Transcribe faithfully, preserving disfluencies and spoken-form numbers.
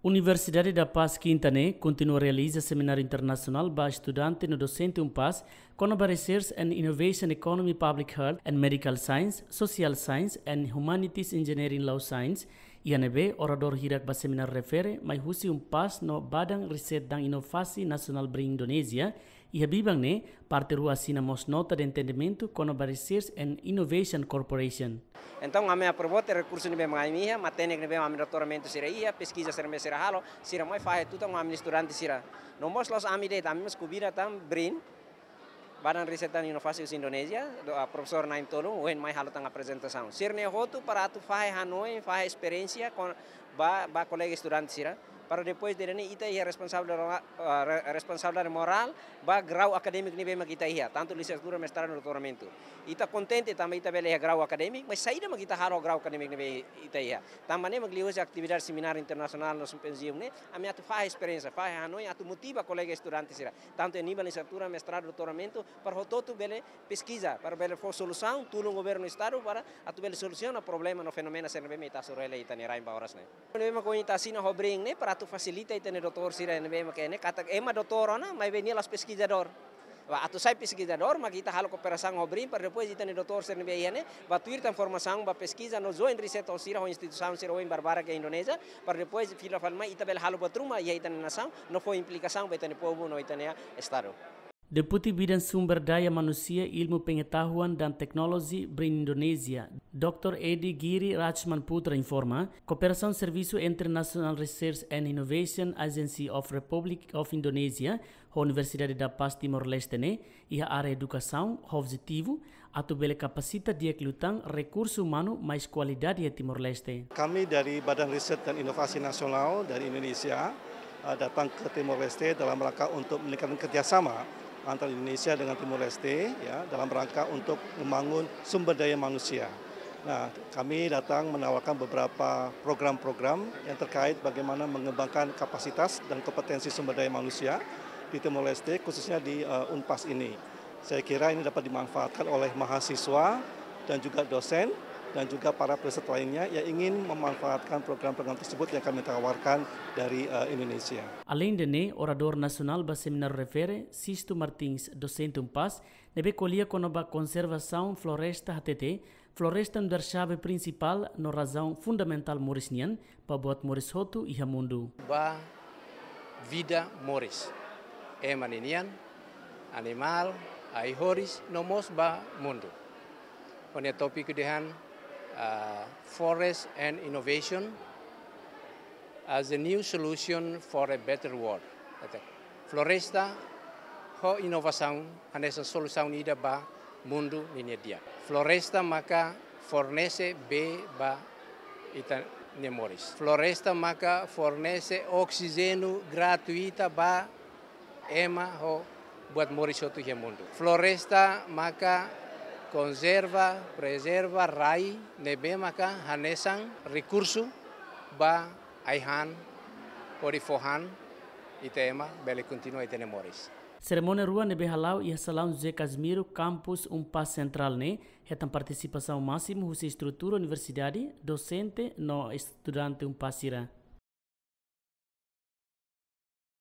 Universidade da Paz Kinta ne'e kontinua realiza semináriu internasionál ba estudante no dosente UNPAZ kona-ba Research and Innovation Economy, Public Health and Medical Science, Social Science and Humanities Engineering Law Science. Iha ne'ebé oradór hirak ba semináriu refere mai husi UNPAZ no Badan Riset dan Inovasi Nasionál BRIN Indonézia. Iha biban ne'e, parte rua asina mós nota de entendimentu kona-ba Research and Innovation Corporation. Entaun, ami aprova tiha rekursu ne'ebé mak ami iha, matenek ne'ebé ami doutoramentu sira iha, peskiza sira ne'ebé sira halo, sira mai fahe tutan ho ami-nia estudante sira. No mós la'ós ami de'it, ami mós konvida tan BRIN, Badan Riset dan Inovasi husi Indonézia, do, ah, profesór Naim Tolun, ohin mai halo tan aprezentasaun. Sira-ne'e hotu para atu fahe hanoin, fahe esperiénsia kona-ba, ba kolega estudante sira. Para depois de ne'e ita iha responsabilidade, ah, re-, responsabilidade morál ba grau akadémiku ne'ebé mak ita iha, tantu lisensiatura, mestradu, doutoramentu. Ita kontente tanba ita bele iha grau akadémiku, mas saida mak ita halo grau akadémiku ne'ebé ita iha. Tanba ne'e mak liuhusi atividade semináriu internasionál no simpóziu ne'e, ami atu fahe esperiénsia, fahe hanoin, atu motiva kolega estudante sira, tantu iha nivel lisensiatura, mestradu, doutoramentu, para hotu-hotu bele peskiza, para bele fó solusaun, tulun governu estadu para atu bele solusiona problema no fenómenu sira ne'ebé mak ita hasoru hela iha ita-nia rain ba oras ne'e. Ne'ebé mak ohin ita asina ho BRIN ne'e para atu fasilita ita-nia doutór sira ne'ebé mak ne'e, katak ema doutór ona, maibé nia la'ós peskizadór. Ba atu sai peskizadór, mak ita halo kooperasaun ho BRIN, para depois ita-nia doutór sira ne'ebé iha ne'e ba tuir tan formasaun, ba peskiza no join research ho sira, ho instituisaun sira ohin barbarak iha Indonézia, para depois fila fali mai ita bele halo buat ruma iha ita-nia nasaun, no fó implikasaun ba ita-nia povu no ita-nia estadu. Deputi Bidan Sumber Daya Manusia, Ilmu Pengetahuan dan Teknologi BRIN Indonézia, doutór Edi Giri Rachman Putra informa, kooperasaun servisu entre National Research and Innovation Agency of Republic of Indonesia ho Universidade da Paz Timor-Leste ne'e iha área edukasaun ho objetivu atu bele kapasita di'ak liután rekursu umanu mais kualidade iha Timor-Leste. Kami dari Badan Riset dan Inovasi Nasional dari Indonesia, eh, datang ke Timor-Leste dalam rangka untuk meningkatkan kerjasama antara Indonesia dengan Timor-Leste, ya, dalam rangka untuk membangun sumber daya manusia. Nah, kami datang menawarkan beberapa program-program yang terkait bagaimana mengembangkan kapasitas dan kompetensi sumber daya manusia di Timor-Leste, khususnya di, eh, UNPAZ ini. Saya kira ini dapat dimanfaatkan oleh mahasiswa dan juga dosen dan juga para peserta lainnya yang ingin memanfaatkan program-program tersebut yang kami tawarkan dari, eh, Indonesia. Alende ne'e, oradór nasionál ba semináriu refere, Sisto Martins, dosente UNPAZ, ne'ebé ko'alia kona-ba konservasaun floresta hatete, floresta nu'udar xave prinsipál no razaun fundamentál moris nian ba buat moris hotu iha mundu. Ba vida moris, ema ninian, animál, ai-horis, no mós ba mundu. Ho nia tópiku dehan, ah, Forest and Innovation as a new solution for a better world. Ete, floresta ho inovasaun hanesan solusaun ida ba mundu ninia di'ak. Floresta maka fornese bee ba ita-nia moris. Floresta maka fornese oksijéniu gratuita ba ema ho buat moris hotu iha mundu. Floresta maka konserva, prezerva rai ne'ebé maka hanesan rekursu ba ai-han hodi fó han ita ema bele kontinua ita-nia moris. Serimónia rua ne'ebé hala'o iha salaun José Casimiro, kampus UNPAZ Sentrál ne'e, hetan partisipasaun másimu husi estrutura universidade, dosente no estudante UNPAZ sira.